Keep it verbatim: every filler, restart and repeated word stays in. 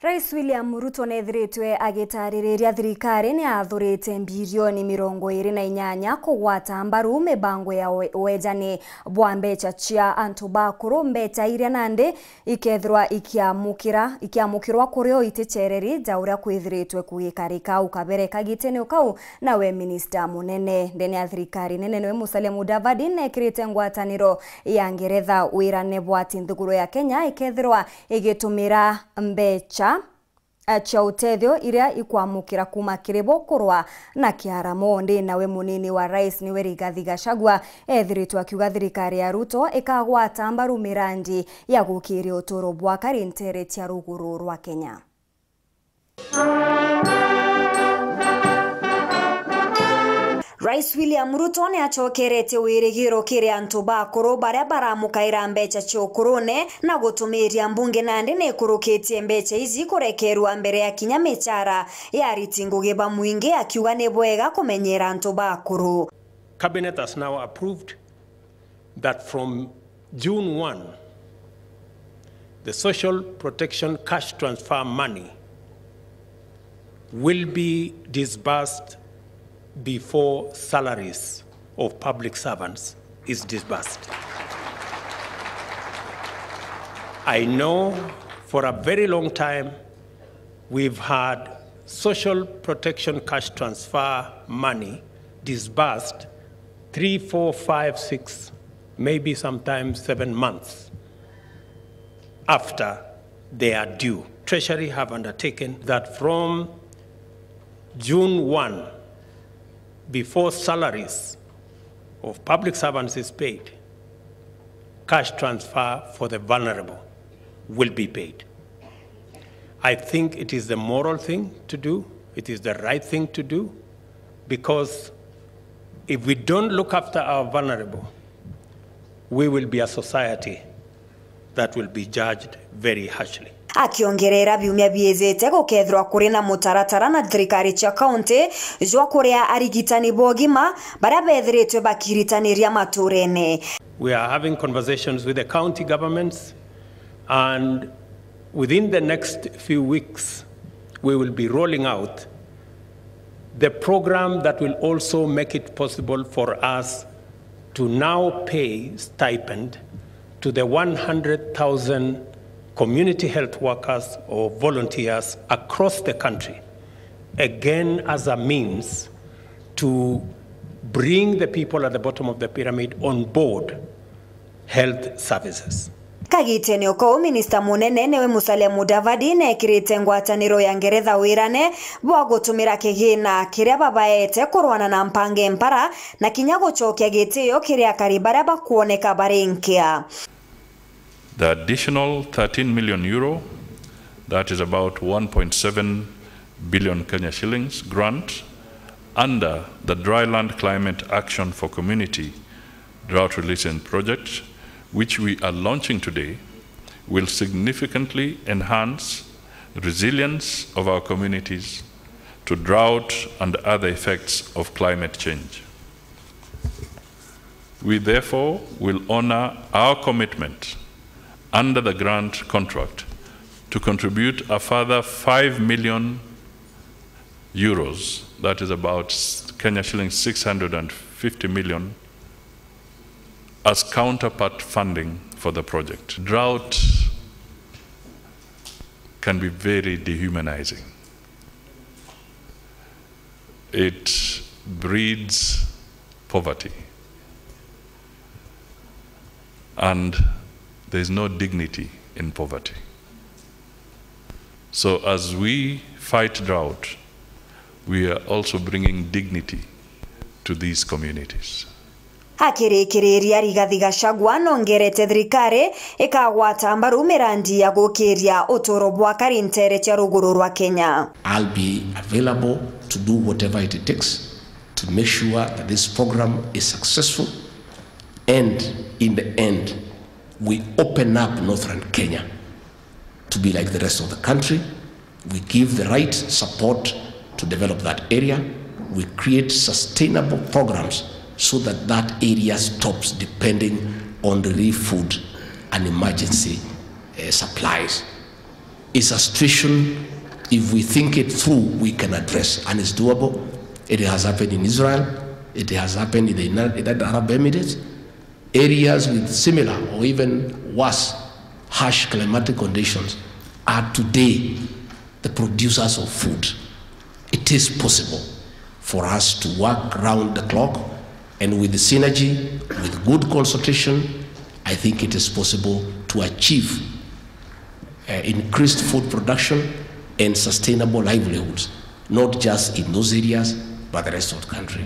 Rais William Ruto neethiritwe agitaririria thirikari ni athurite mbirioni mirongo iri na inyanya kugwata mbaru mibango ya we-, wejani bwa mbecha cia antu bakuru, mbecha iria nandi ikethirwa ikiamukira, ikiamukirwa kuri o iticereri ja uria kwithiritwe kugikarika. Au kabere kagitene o kau, nawe minista munene ndene ya thirikari nene niwe Musalia Mudavadi neekirite ngwataniro ya Ngeretha wirane bwa ati nthiguru ya Kenya ikethirwa igitumira mbecha, eh, cia utethio iria ikwamukira kuuma kiri bo kurwa na kiaramo. Ndi nawe munini wa rais niwe Rigathi Gachagua eethiritwe akiuga thirikari ya Ruto ikagwata mbaru mirandi ya gukiria uturo bwa akari nteere cia ruguru rwa Kenya. Rais William Ruto ni acokeretie wirigiro kiri antu bakuru baria baramukaira mbecha cia ukurune na gutumiria mbunge nandi ni ikurukitie mbecha ici kurekerua mbere ya kinya michara ya ariti ngugi ba mwingi, akiuga ni bwega kumenyera antu bakuru. Cabinet has now approved that from June one, the social protection cash transfer money will be disbursed before salaries of public servants is disbursed. I know for a very long time we've had social protection cash transfer money disbursed three, four, five, six, maybe sometimes seven months after they are due. Treasury have undertaken that from June one, before salaries of public servants is paid, cash transfer for the vulnerable will be paid. I think it is the moral thing to do, it is the right thing to do, because if we don't look after our vulnerable, we will be a society that will be judged very harshly. Akiongerera, biumia biijite gukethirwa kuri na mutaratara na thirikari cia kaunti jwa kuria arigitani ba ugima baria bethiritwe bakiritaniria maturene. We are having conversations with the county governments, and within the next few weeks, we will be rolling out the program that will also make it possible for us to now pay stipend to the one hundred thousand community health workers or volunteers across the country, again as a means to bring the people at the bottom of the pyramid on board health services. Kagitene o kau, minista munene niwe Musalia Mudavadi neekirite ngwataniro ya Ngeretha wirane bwa gutumira kigina kiria babaete kurwana na mpange mpara na kinya gucokia gitio kiri akari baria bakwoneka bari nkia. The additional thirteen million euro, that is about one point seven billion Kenya shillings grant under the Dryland Climate Action for Community Drought Resilience Project, which we are launching today, will significantly enhance resilience of our communities to drought and other effects of climate change. We therefore will honour our commitment under the grant contract to contribute a further five million euros, that is about Kenya shillings six hundred and fifty million, as counterpart funding for the project. Drought can be very dehumanizing. It breeds poverty. And there is no dignity in poverty. So as we fight drought, we are also bringing dignity to these communities. Akirikiriria, Rigathi Gachagua nongerete thirikari ikagwata mbaru mirandi ya gukiria uturo bwa akari nteere cia ruguru rwa Kenya. I'll be available to do whatever it takes to make sure that this program is successful, and in the end, we open up Northern Kenya to be like the rest of the country. We give the right support to develop that area. We create sustainable programs so that that area stops depending on relief food and emergency, eh, supplies. is a situation, if we think it through, we can address, and it's doable. It has happened in Israel, it has happened in the United Arab Emirates. Areas with similar or even worse harsh climatic conditions are today the producers of food. It is possible for us to work round the clock, and with synergy, with good consultation, I think it is possible to achieve uh, increased food production and sustainable livelihoods, not just in those areas, but the rest of the country.